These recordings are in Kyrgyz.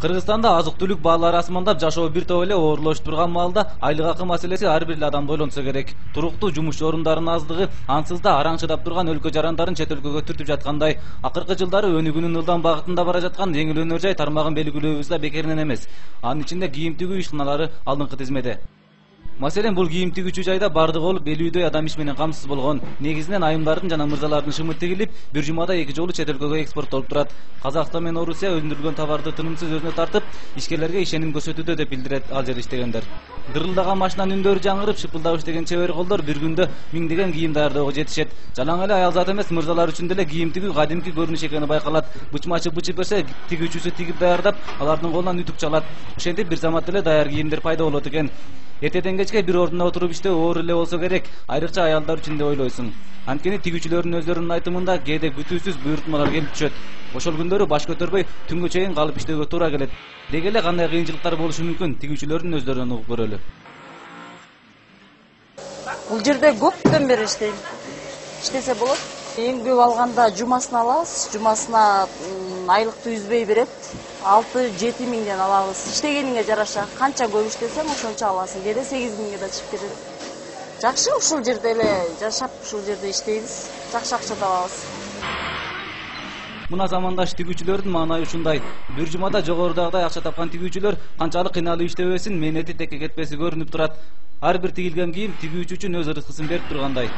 Кыргызстанда азык-түлүк баалары асмандап, жашоо бир топ эле оорлошуп турган маалда айлык акы маселеси ар бир эле адамды ойлонсо керек. Туруктуу жумуш орундарынын аздыгы ансыз да араңчыдап турган өлкө жарандарын чет өлкөгө түртүп жаткандай. Акыркы жылдары өнүгүүнүн ылдам багытында бара жаткан жеңил өнөр жай тармагын белгилөөбүз да бекеринен эмес. Анын ичинде кийим тигүү ишканалары алдыңкы тизмеде. Маселен, бул кийим тигүүчү жайда бардыгы болуп 50дөй адам иш менен камсыз болгон. Негизинен айымдардын жана мырзалардын шымы тигилип, бир жумада 2 жолу чет өлкөгө экспорттолуп турат. Казакстан менен Орусия өндүрүлгөн товарды тынымсыз өзүнө тартып, ишкерлерге ишеним көрсөтүүдө деп билдирет ал жерде иштегендер. Дырылдаган машинанын үндөрү жаңырып, шыпылдап иштеген чебер колдор бир күндө миңдеген кийим даярдөөгө жетишет. Жалаң эле аял зат эмес, мырзалар үчүн деле кийим тигүү кадимки көрүнүш экени байкалат. Бычмачы бычып берсе, тигүүчүсү тигип даярдап, алардын колунан үтүк чалат. Ошентип бир замат эле даяр кийимдер пайда болот экен. Эртеден кечке бир ордунда отуруп иштөө оор эле болсо керек, айрыкча аялдар үчүн деп ойлойсуң. Анткени тигүүчүлөрдүн өздөрүнүн айтымында кээде күтүүсүз буйрутмалар келип түшөт. Ошол күндөрү баш көтөрбөй түнгө чейин калып иштөөгө туура келет. Деги эле кандай кыйынчылыктар болушу мүмкүн, тигүүчүлөрдүн өздөрүнөн угуп көрөлү. Бул жерде көптөн бери иштейм. Иштесе болот. Эң көп алганда жумасына алабыз. Жумасына айлыкты үзбөй берет. 6-7 миңден алабыз. Иштегениңе жараша. Канча көп иштесең, ошончо аласың. Кээде 8 миңге да чыгып кетет. Жакшы, ушул жерде эле жашап, ушул жерде иштейбиз. Жакшы акча табабыз. Мына замандаш тигүүчүлөрдүн маанайы ушундай. Бир жумада жогорудагыдай акча тапкан тигүүчүлөр канчалык кыйналып иштебесин, мээнети текке кетпеси көрүнүп турат. Ар бир тигилген кийим тигүүчү үчүн өз ырыскысын берип тургандай.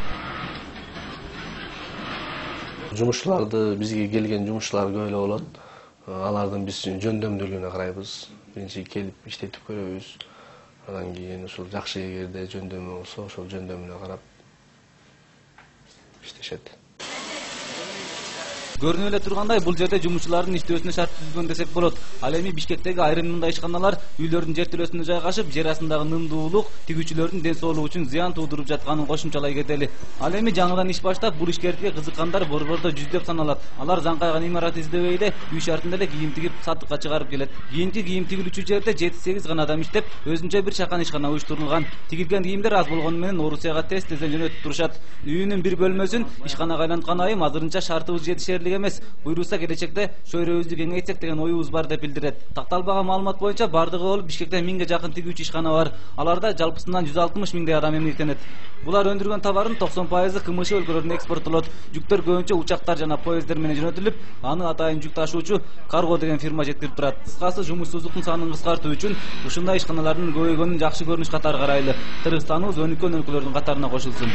Жумушчуларды, бизге келген жумушчулар көп эле болот. Алардын биз жөндөмдүүлүгүнө карайбыз. Биринчи келип иштетип көрөбүз. Андан кийин ушул жакшы эгерде жөндөмү болсо, ошол жөндөмүнө карап иштешет. Көрүнүп эле тургандай, бул жерде жумушчулардын иштөөсүнө шарт түзүлгөн десек болот. Ал эми Бишкектеги айрым мындай ишканалар үйлөрдүн жертөлөсүндө жайгашып, жер астындагы нымдуулук тигүүчүлөрдүн ден соолугу үчүн зыян туудуруп жатканын кошумчалай кетели. Ал эми жаңыдан иш баштап, бул ишкердикке кызыккандар борбордо жүздөп саналат. Алар заңкайган имарат издебейде үй шартында эле кийим тигип сатыкка чыгарып келет. Кийинки кийим тигилүүчү жерде 7-8 гана адам иштеп, өзүнчө бир чакан ишкана уюштурулган. Тигилген кийимдер аз болгону менен Орусияга тез-тезден жөнөтүп турушат. Үйүнүн бир бөлмөсүн ишканага айланткан айым азырынча шартыбыз жетишерлик эмес. Буйруса келечекте чөйрөбүздү кеңейтсек деген оюбуз бар деп билдирет. Такталбаган маалымат боюнча бардыгы болуп Бишкекте 1000ге жакын тигүүчү ишкана бар. Аларда жалпысынан 160 миңдей адам эмгектенет. Булар өндүргөн товардын 90% КМШ өлкөлөрүнө экспорттолот. Жүктөр көбүнчө учактар жана поезддер менен жөнөтүлүп, аны атайын жүк ташуучу Карго деген фирма жеткирип турат. Кыскасы, жумушсуздуктун санын кыскартуу үчүн ушундай ишканалардын көбөйгөнүн жакшы көрүнүш катары карайлы. Кыргызстаныбыз өнүккөн өлкөлөрдүн катарына кошулсун.